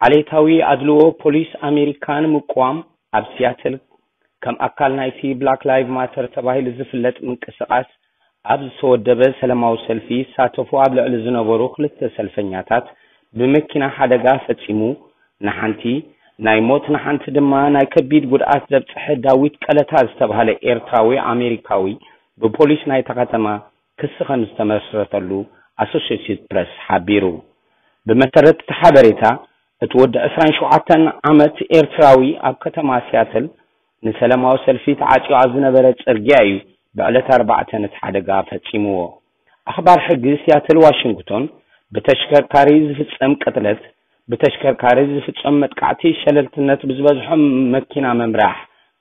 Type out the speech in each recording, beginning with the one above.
ዓሌታዊ ኣድልዎ ፖሊስ ኣሜሪካ ንምቅዋም ኣብ ሲያትል ከም ኣካል ናይቲ ብላክ ላይቭ ማተር ተባሂሉ ዝፍለጥ ምንቅስቓስ ኣብ ዝተወደበ ሰላማዊ ሰልፊ ይሳተፉ ኣብ ልዕሊ ዝነበሩ ክልተ ሰልፈኛታት ብመኪና ሓደጋ ፈጺሙ ንሓንቲ ናይ ሞት ንሓንቲ ድማ ናይ ከቢድ ጉድኣት ዘብጽሐ ዳዊት ቀለታ ዝተባህለ ኤርትራዊ ኣሜሪካዊ ብፖሊስ ናይታ ከተማ ክሲ ከም ዝተመስረተሉ ኣሶሽየትድ ፕረስ ሓቢሩ። ብመሰረት እቲ ሓበሬታ፣ እቲ ወዲ ዕስራን ሸውዓተን ዓመት ኤርትራዊ ኣብ ከተማ ሲያትል ንሰላማዊ ሰልፊ ተዓጽዩ ኣብ ዝነበረ ጽርግያ እዩ ብዕለት ኣርባዕተ ነቲ ሓደጋ ፈጺምዎ። ኣኽባር ሕጊ ሲያትል ዋሽንግቶን ብተሽከርካሪ ዝፍጸም ቅትለት፣ ብተሽከርካሪ ዝፍጸም መጥቃዕቲ፣ ሸለልትነት ብዝበዝሖ መኪና ምምራሕ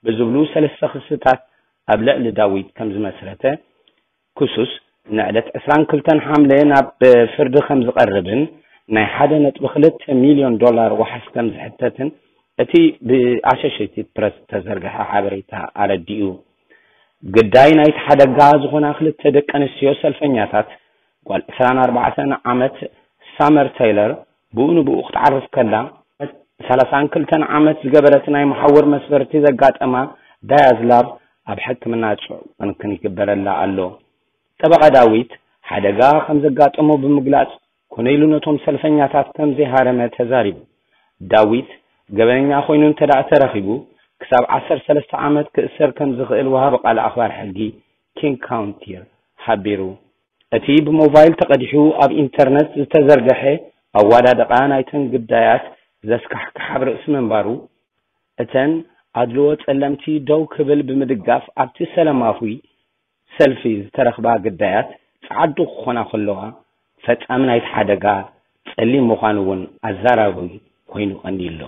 ብዝብሉ ሰለስተ ክስታት ኣብ ልዕሊ ዳዊት ከም ዝመስረተ ክሱስ ንዕለት ዕስራን ክልተን ሓምለ ናብ ፍርዲ ከም ዝቐርብን ናይ ሓደ ነጥቢ ክልተ ሚልዮን ዶላር ዋሕስ ከም ዝሕተትን እቲ ብኣሶሽየትድ ፕረስ ዝተዘርግሐ ሓበሬታ ኣረዲኡ። ግዳይ ናይቲ ሓደጋ ዝኾና ክልተ ደቂ ኣንስትዮ ሰልፈኛታት፣ ጓል ዕስራን ኣርባዕተን ዓመት ሳመር ቴይለር ብኡ ንብኡ ክትዓርፍ ከላ፣ ሰላሳን ክልተን ዓመት ዝገበረት ናይ መሓውር መስበርቲ ዘጋጠማ ዳያዝ ላቭ ኣብ ሕክምና ጽዑቕ ክንክን ይግበረላ ኣሎ። ጠበቓ ዳዊት ሓደጋ ከም ዘጋጠሞ ብምግላጽ፣ ኮነ ኢሉ ነቶም ሰልፈኛታት ከም ዘይሃረመ ተዛሪቡ። ዳዊት ገበነኛ ኮይኑ እንተ ደኣ ተረኺቡ፣ ክሳብ ዓሰርተ ሰለስተ ዓመት ክእሰር ከም ዝኽእል ወሃቢ ቃል ኣኽባር ሕጊ ኪንግ ካውንቲር ሓቢሩ። እቲ ብሞባይል ተቐዲሑ ኣብ ኢንተርነት ዝተዘርግሐ ኣወዳድቓ ናይተን ግዳያት ዘስካሕክሕ ኣብ ርእሲ ምንባሩ፣ እተን ኣድልዎ ጸለምቲ ደው ክብል ብምድጋፍ ኣብቲ ሰላማዊ ሰልፊ ዝተረኽባ ግዳያት ጸዓዱ ክኾና ከለዋ፣ ፈጻሚ ናይቲ ሓደጋ ጸሊም ምዃኑ እውን ኣዛራቢ ኮይኑ ቀንዩ ኣሎ።